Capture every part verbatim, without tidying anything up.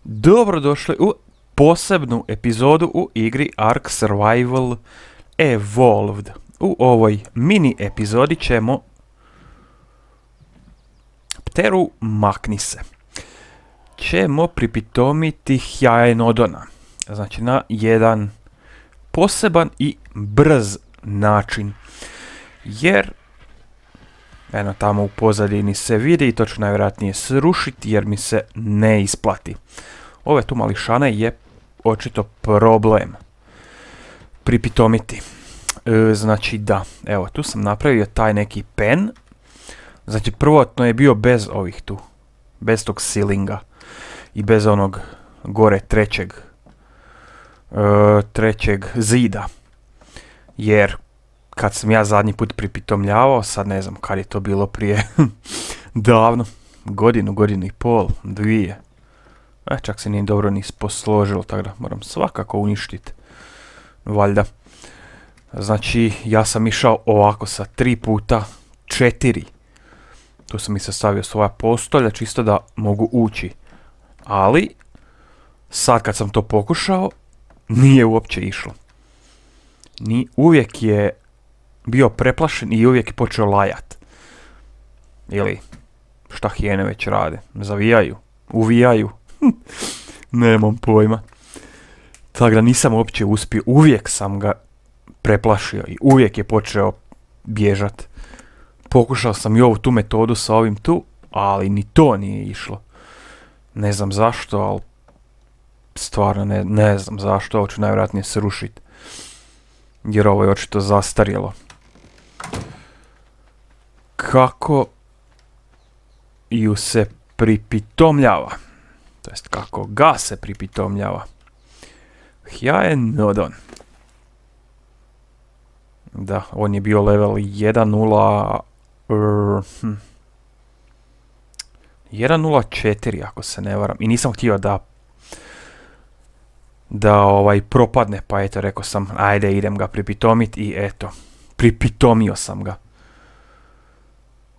Dobrodošli u posebnu epizodu u igri Ark Survival Evolved. U ovoj mini epizodi ćemo Pteru makni se. Ćemo pripitomiti Hyaenodona. Znači na jedan poseban i brz način. Jer eno tamo u pozadini se vidi i to ću najvjerojatnije srušiti jer mi se ne isplati. Ove tu mališane je očito problem pripitomiti. E, znači da, evo tu sam napravio taj neki pen. Znači prvotno je bio bez ovih tu, bez tog silinga i bez onog gore trećeg, e, trećeg zida. Jer kad sam ja zadnji put pripitomljavao, sad ne znam kad je to bilo prije, davno, godinu, godinu i pol, dvije. E, čak se nije dobro ni posložilo, tako da moram svakako uništiti. Valjda. Znači, ja sam išao ovako sa tri puta četiri. Tu sam i sastavio svoja postolja, čisto da mogu ući. Ali, sad kad sam to pokušao, nije uopće išlo. Ni uvijek je bio preplašen i uvijek je počeo lajat. Ili, šta hijene već rade? Zavijaju, uvijaju. Nemam pojma. Tako da nisam uopće uspio, uvijek sam ga preplašio i uvijek je počeo bježat. Pokušao sam i ovu tu metodu sa ovim tu, ali ni to nije išlo. Ne znam zašto, ali stvarno ne, ne znam zašto, ovo ću najvjerojatnije srušiti. Jer ovo je očito zastarjelo. Kako ju se pripitomljava? To jest kako ga se pripitomljava. Hyaenodon. Da, on je bio level jedan nula... Uh, hm. jedan nula četiri ako se ne varam. I nisam htio da... Da ovaj propadne, pa eto rekao sam, ajde idem ga pripitomit i eto. Pripitomio sam ga.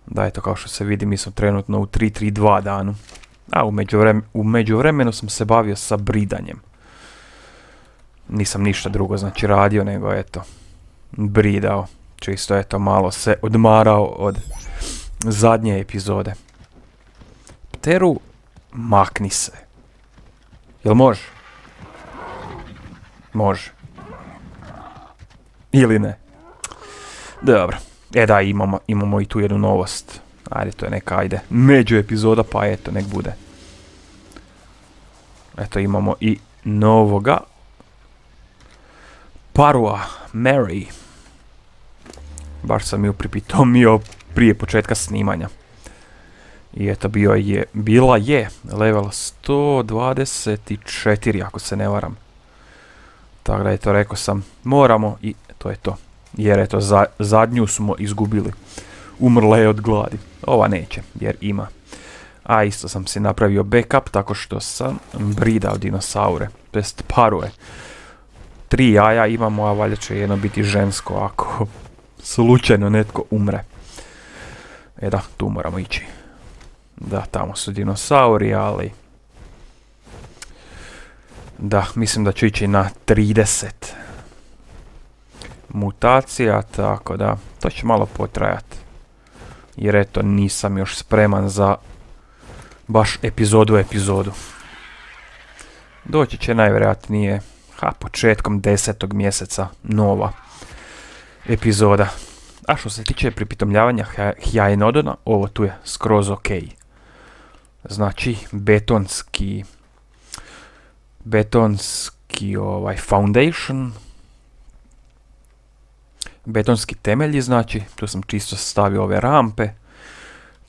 Da eto kao što se vidi mi smo trenutno u tri tri dva danu. A u, međuvrem, u međuvremenu sam se bavio sa bridanjem. Nisam ništa drugo znači radio nego eto bridao. Čisto eto malo se odmarao od zadnje epizode. Pteru makni se. Jel može? Može. Ili ne? Dobro. E da, imamo, imamo i tu jednu novost. Ajde, to je neka, ajde, među epizoda, pa eto, nek bude. Eto, imamo i novoga. Parua, Mary. Baš sam ju pripitomio prije početka snimanja. I eto, bio je, bila je level sto dvadeset četiri, ako se ne varam. Tako da, eto, rekao sam, moramo i to je to. Jer eto, za, zadnju smo izgubili. Umrla je od gladi. Ova neće, jer ima. A isto sam si napravio backup tako što sam bridao dinosaure. To jest parue. Tri jaja imamo, a valjda će jedno biti žensko ako slučajno netko umre. E da, tu moramo ići. Da, tamo su dinosauri, ali... Da, mislim da ću ići na trideset mutacija, tako da to će malo potrajati. Jer eto, nisam još spreman za baš epizodu epizodu. Doći će najvjerojatnije, ha, početkom desetog mjeseca nova epizoda. A što se tiče pripitomljavanja Hyaenodona, ovo tu je skroz ok. Znači, betonski, betonski ovaj foundation, betonski temelji, znači, tu sam čisto stavio ove rampe,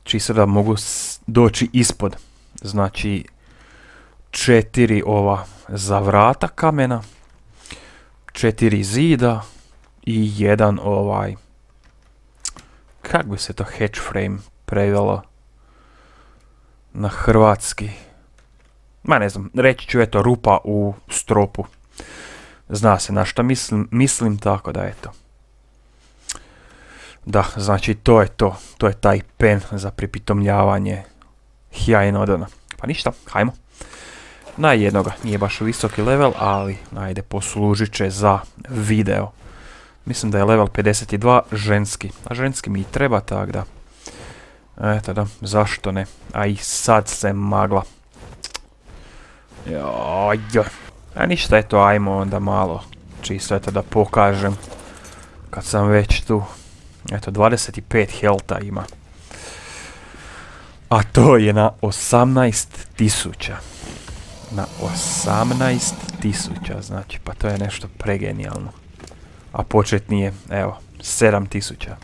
čisto da mogu doći ispod, znači, četiri ova za vrata kamena, četiri zida i jedan ovaj, kako bi se to hatch frame prevelo na hrvatski, ma ne znam, reći ću eto rupa u stropu, zna se na šta mislim, mislim tako da eto. Da, znači to je to, to je taj pen za pripitomljavanje Hyaenodona. Pa ništa, hajmo. Na jednoga, nije baš visoki level, ali ajde, poslužit će za video. Mislim da je level pedeset dva ženski, a ženski mi i treba, tak da. Eto da, zašto ne? A i sad se magla. Joj. A ništa, eto, ajmo onda malo. Čisto eto da pokažem. Kad sam već tu. Eto, dvadeset pet helta ima. A to je na osamnaest tisuća. Na osamnaest tisuća, znači, pa to je nešto pregenijalno. A početni je, evo, sedam tisuća.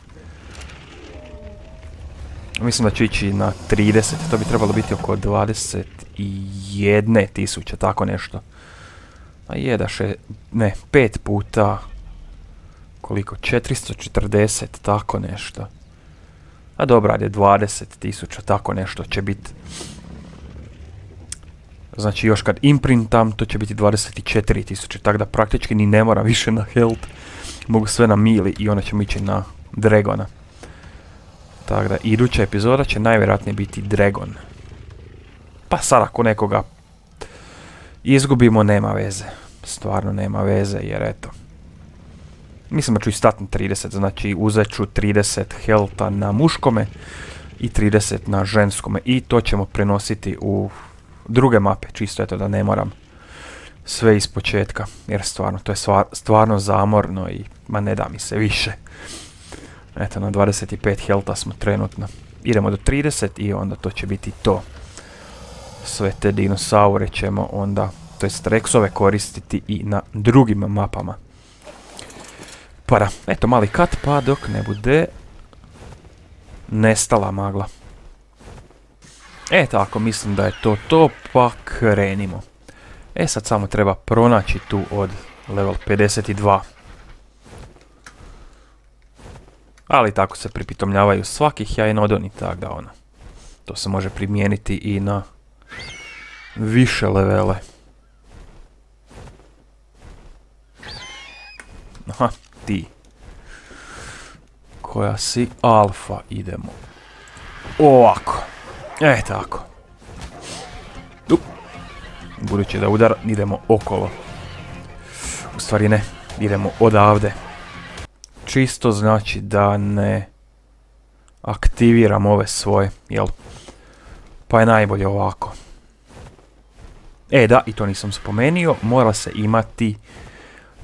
Mislim da će ići na trideset, to bi trebalo biti oko dvadeset jedna tisuća, tako nešto. A je da še, ne, pet puta, koliko, četiristo četrdeset, tako nešto. A dobro, ajde, dvadeset tisuća, tako nešto će biti. Znači još kad imprintam, to će biti dvadeset četiri tisuće, tako da praktički ni ne moram više na health. Mogu sve na mili i onda ćemo ići na Dragona. Tako da, iduća epizoda će najvjerojatnije biti Dragon. Pa sad ako nekoga izgubimo, nema veze. Stvarno nema veze, jer eto. Mislim da ću i stati na trideset, znači uzet ću trideset healtha na muškome i trideset na ženskome. I to ćemo prenositi u druge mape, čisto eto da ne moram sve iz početka. Jer stvarno, to je stvar, stvarno zamorno i ma ne da mi se više. Eto, na dvadeset pet healtha smo trenutno. Idemo do trideset i onda to će biti to. Sve te dinosaure ćemo onda, to jest Rexove koristiti i na drugim mapama. Pa da, eto mali kat pa dok ne bude nestala magla. E tako, mislim da je to to, pa krenimo. E sad samo treba pronaći tu od level pedeset dva. Ali tako se pripitomljavaju svakih Hyaenodon i tak da ono. To se može primijeniti i na više levele. Aha, ti. Koja si alfa, idemo. Ovako. E tako. Up. Budući da udar, idemo okolo. U stvari ne, idemo odavde. Čisto znači da ne aktiviram ove svoje, jel? Pa je najbolje ovako. E da, i to nisam spomenio, mora se imati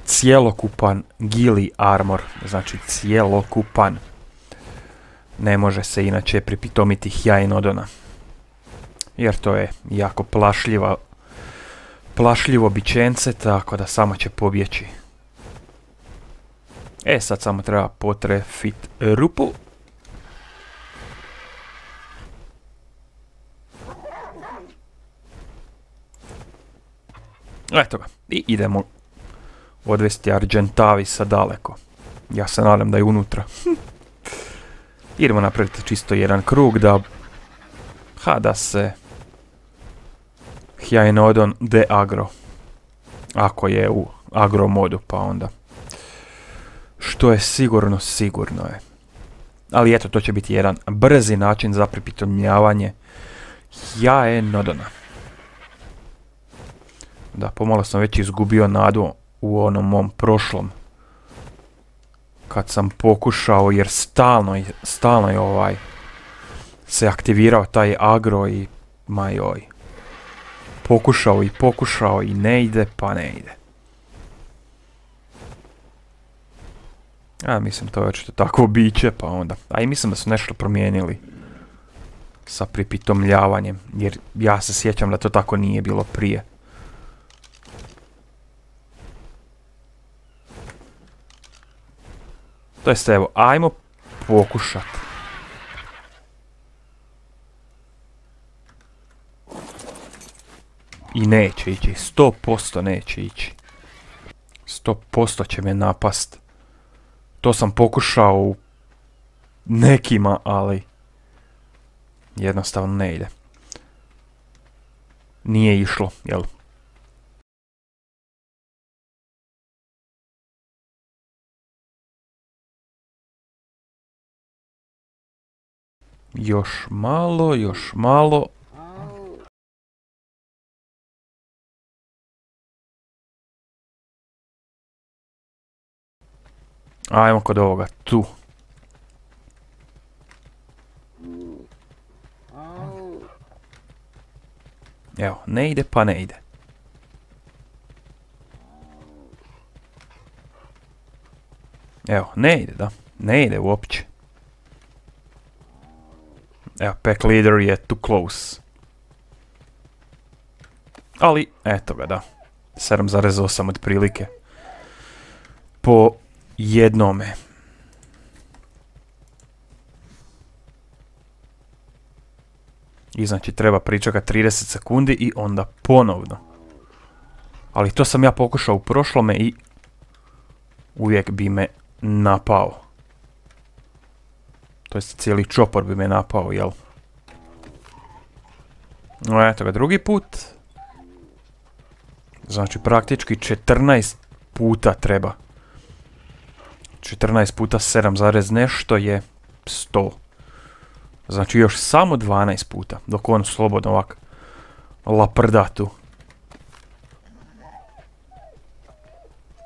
cjelokupan Gili armor, znači cjelokupan. Ne može se inače pripitomiti Hyaenodona. Jer to je jako plašljiva, plašljivo bićence, tako da samo će pobjeći. E, sad samo treba potrefit rupu. Eto ga. I idemo odvesti Argentavisa daleko. Ja se nadam da je unutra. Idemo napraviti čisto jedan krug da... Ha, da se... Hyaenodon deagro. Ako je u agro modu, pa onda... Što je sigurno, sigurno je. Ali eto, to će biti jedan brzi način za pripitomljavanje Hyaenodona. Da, pomalo sam već izgubio nadu u onom mom prošlom. Kad sam pokušao, jer stalno, stalno je ovaj... se aktivirao taj agro i... Ma joj. Pokušao i pokušao i ne ide, pa ne ide. Ja mislim to je očito takvo biće, pa onda. A i mislim da su nešto promijenili sa pripitomljavanjem, jer ja se sjećam da to tako nije bilo prije. To jest evo, ajmo pokušat. I neće ići, sto posto neće ići. sto posto će me napast. To sam pokušao u nekima, ali jednostavno ne ide. Nije išlo, jel? Još malo, još malo. Ajmo kod ovoga, tu. Evo, ne ide pa ne ide. Evo, ne ide, da. Ne ide uopće. Evo, pack leader je too close. Ali, eto ga, da. sedam zarez osam otprilike. Po jednome. I znači treba pričekati trideset sekundi i onda ponovno. Ali to sam ja pokušao u prošlome i uvijek bi me napao. To jest cijeli čopor bi me napao, jel? No eto ga drugi put. Znači praktički četrnaest puta treba. četrnaest puta sedam zarez nešto je sto. Znači još samo dvanaest puta, dok on slobodno ovak laprda tu.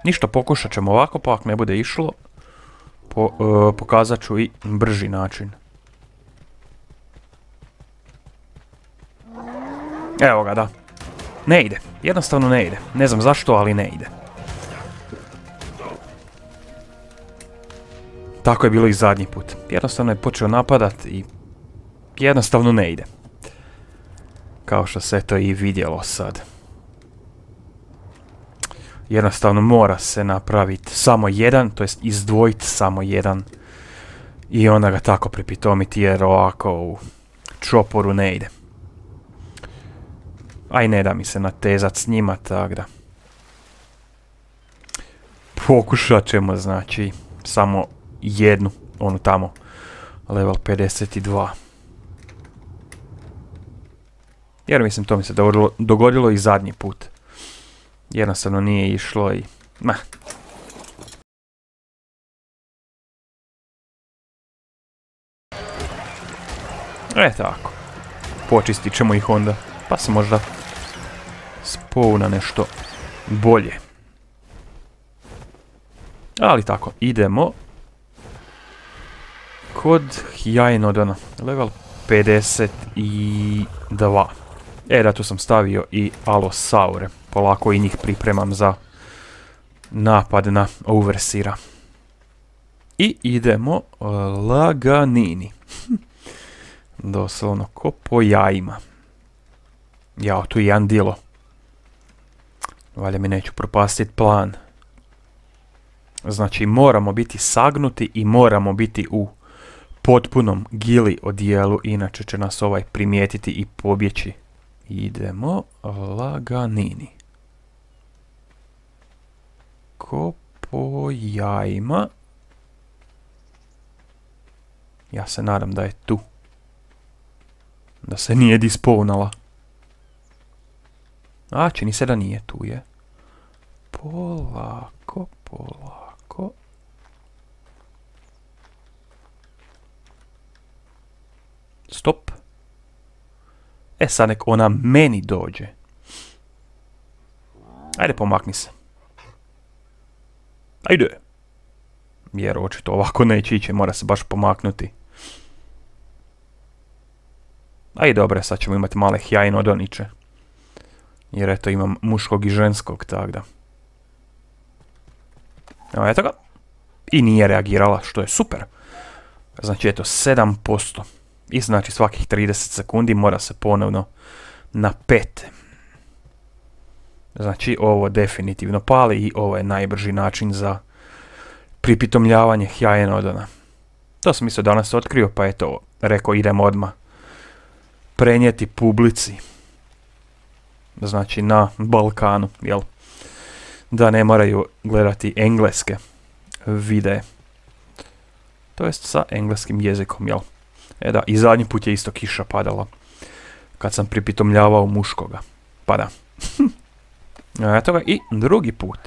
Ništa, pokušat ćemo ovako, pa ako ne bude išlo, po, uh, pokazat ću i brži način. Evo ga, da. Ne ide, jednostavno ne ide. Ne znam zašto, ali ne ide. Tako je bilo i zadnji put. Jednostavno je počeo napadat i jednostavno ne ide. Kao što se to i vidjelo sad. Jednostavno mora se napraviti samo jedan, to jest izdvojiti samo jedan. I onda ga tako pripitomiti jer ovako u čoporu ne ide. Aj ne da mi se natezat s njima, tak da. Pokušat ćemo, znači, samo jednu, onu tamo, level pedeset dva. Jer mislim to mi se dogodilo, dogodilo i zadnji put. Jednostavno nije išlo i... Ma. E tako. Počistit ćemo ih onda. Pa se možda spavna nešto bolje. Ali tako, idemo kod Hyaenodona. Level pedeset dva. E da, tu sam stavio i Alosaure. Polako i njih pripremam za napad na Overseera. I idemo uh, laganini. Doslovno ko po jajima. Jao, tu je jedan dilo. Valja mi neću propastiti plan. Znači moramo biti sagnuti i moramo biti u potpunom gili odijelu, inače će nas ovaj primijetiti i pobjeći. Idemo laganini. Ko po jajima. Ja se nadam da je tu. Da se nije disponala. A, čini se da nije, tu je. Polako, polako. Stop. E sad nek ona meni dođe. Ajde, pomakni se. Ajde. Jer očito ovako neće ići, mora se baš pomaknuti. Ajde, dobro, sad ćemo imati male Hyaenodoniće. Jer eto imam muškog i ženskog, tak da. Evo, eto ga. I nije reagirala, što je super. Znači, eto, sedam posto. I znači svakih trideset sekundi mora se ponovno na pet. Znači, ovo definitivno pali i ovo je najbrži način za pripitomljavanje Hyaenodona. To sam isto danas otkrio, pa eto, rekao idem odmah prenijeti publici. Znači na Balkanu, jel? Da ne moraju gledati engleske videe. To jest sa engleskim jezikom, jel? E da, i zadnji put je isto kiša padala. Kad sam pripitomljavao muškoga. Pa da. Eto ga, i drugi put.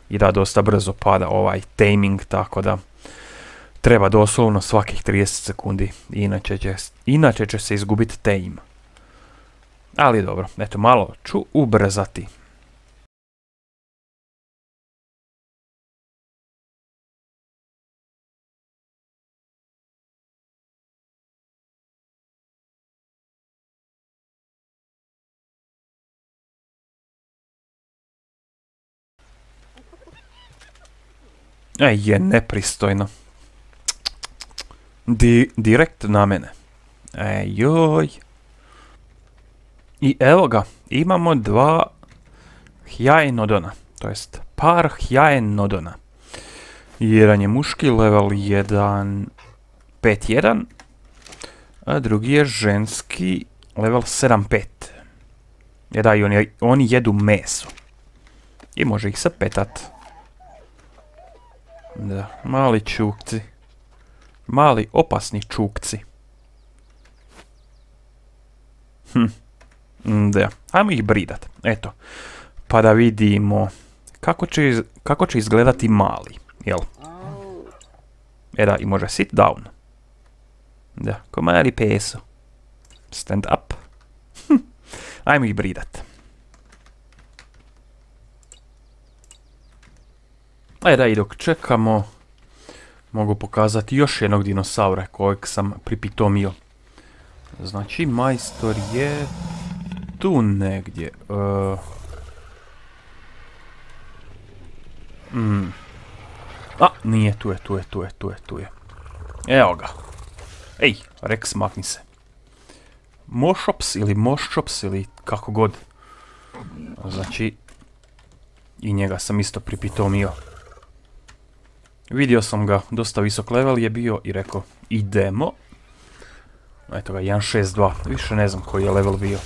I da, dosta brzo pada ovaj taming, tako da treba doslovno svakih trideset sekundi. Inače će, inače će se izgubiti tame. Ali dobro, eto, malo ću ubrzati. E, je nepristojno. Di, direkt na mene. E, joj. I evo ga, imamo dva Hyaenodona, to jest par Hyaenodona. Jedan je muški, level jedan pet jedan, a drugi je ženski, level sedam pet. E da, i oni, oni jedu meso. I može ih se petat. Da, mali čukci. Mali opasni čukci. Hm. Da, ajmo ih bridat. Eto. Pa da vidimo kako će, iz, kako će izgledati mali. Jel? E da, i može sit down. Da, ko mali peso. Stand up. Hm. Ajmo ih bridat. E da, i dok čekamo, mogu pokazati još jednog dinosaura kojeg sam pripitomio. Znači, majstor je tu negdje. Uh, mm. A, nije, tu je, tu je, tu je, tu je, tu je. Evo ga. Ej, Rex, makni se. Mošops ili Moščops ili kako god. Znači, i njega sam isto pripitomio. Vidio sam ga, dosta visok level je bio i rekao, idemo. Eto ga, jedan šest dva, više ne znam koji je level bio.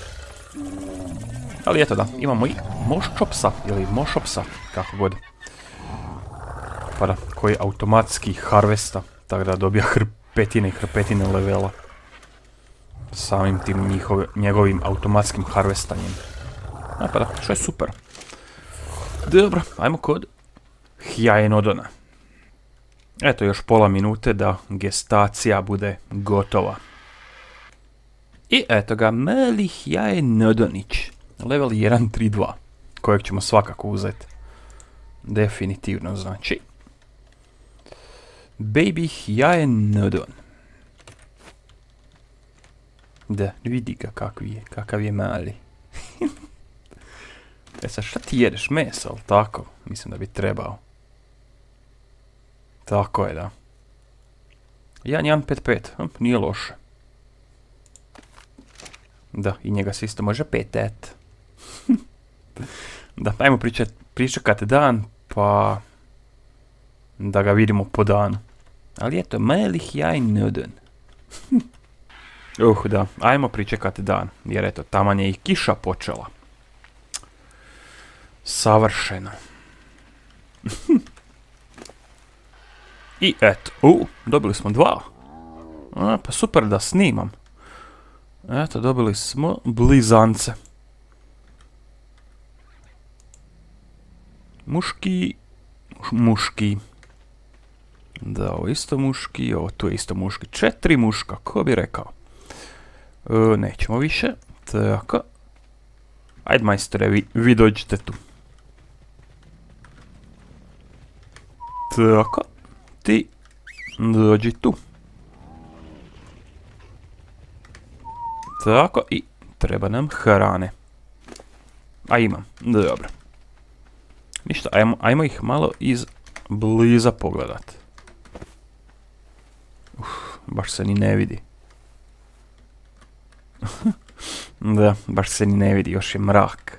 Ali eto da, imamo i Moščopsa ili Mošopsa, kako god. Pa da, koji automatski harvesta, tako da dobija hrpetine i hrpetine levela. Samim tim njihove, njegovim automatskim harvestanjem. A pa da, što je super. Dobro, ajmo kod Hyaenodona. Eto još pola minute da gestacija bude gotova. I eto ga, mali Hyaenodonić. Level jedan tri dva. Kojeg ćemo svakako uzeti. Definitivno znači. Baby Hyaenodon. Da, vidi ga kakav je, kakav je mali. E sad šta ti jedeš, meso, ali tako? Mislim da bi trebao. Tako je, da. jedan jedan pet pet, hm, nije loše. Da, i njega se isto može petet. Da, ajmo pričat, pričekat dan, pa da ga vidimo po danu. Ali eto, mali Hyaenodon. Uh, da, ajmo pričekat dan, jer eto, taman je i kiša počela. Savršeno. I eto, u, dobili smo dva. A, pa super da snimam. Eto, dobili smo blizance. Muški, muški. Da, ovo isto muški, ovo tu je isto muški. Četiri muška, ko bi rekao. E, nećemo više, tako. Ajde majstore, vi, vi dođite tu. Tako, ti dođi tu. Tako, i treba nam hrane. A imam, dobro. Ništa, ajmo, ajmo ih malo iz bliza pogledat. Uf, baš se ni ne vidi. Da, baš se ni ne vidi, još je mrak.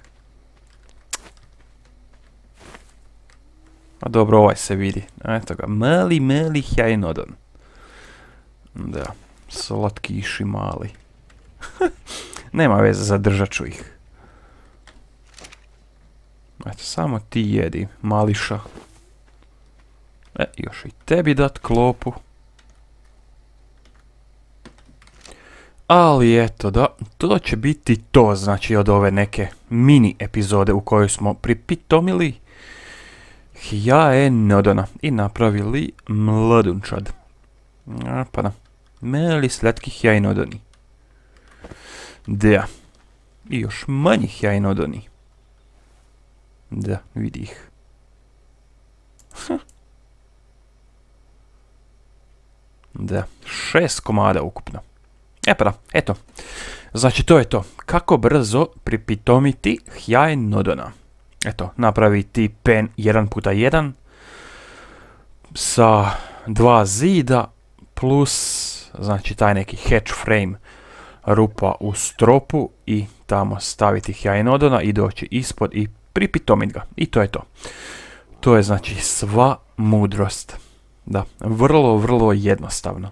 A dobro, ovaj se vidi. Eto ga, mali, mali Hyaenodon. Da, slatkiši mali. Nema veze, zadržat ću ih. Eto, samo ti jedi, mališa. E, još i tebi dat klopu. Ali eto da, to će biti to, znači od ove neke mini epizode u kojoj smo pripitomili Hyaenodona i napravili mladunčad. A, pa da, mali slatki Hyaenodoni. Da, i još manji Hyaenodoni. Da, vidi ih. Da, šest komada ukupno. E pa da, eto. Znači to je to. Kako brzo pripitomiti Hyaenodona. Eto, napraviti pen jedan puta jedan. sa dva zida plus znači taj neki hatch frame rupa u stropu i tamo staviti Hyaenodona i doći ispod i pripitomit ga. I to je to. To je znači sva mudrost. Da, vrlo, vrlo jednostavno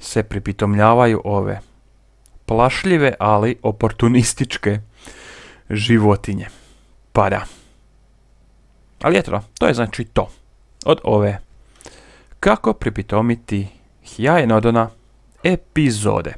se pripitomljavaju ove plašljive, ali oportunističke životinje. Pa da. Ali eto, to je znači to. Od ove kako pripitomiti Hyaenodona epizode.